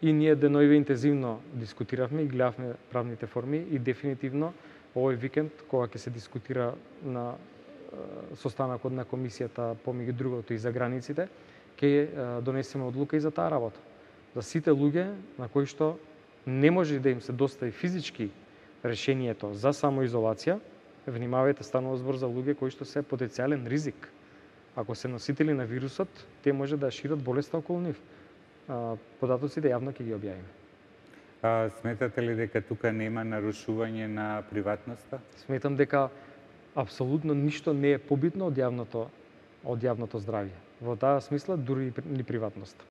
И ние деноиве интензивно дискутиравме и гледавме правните форми и дефинитивно овој викенд кога ќе се дискутира на состанокот на комисијата помеѓу другото и за границите, ќе донесеме одлука и за таа работа. За сите луѓе на кои што не може да им се достави физички решението за самоизолација, внимавајте, станува збор за луѓе кои што се потенцијален ризик. Ако се носители на вирусот, те може да шират болеста околу нив. Податоците јавно ќе ги објавиме. Сметате ли дека тука нема нарушување на приватноста? Сметам дека апсолутно ништо не е побитно од јавното здравје. Во таа смисла дури и приватноста.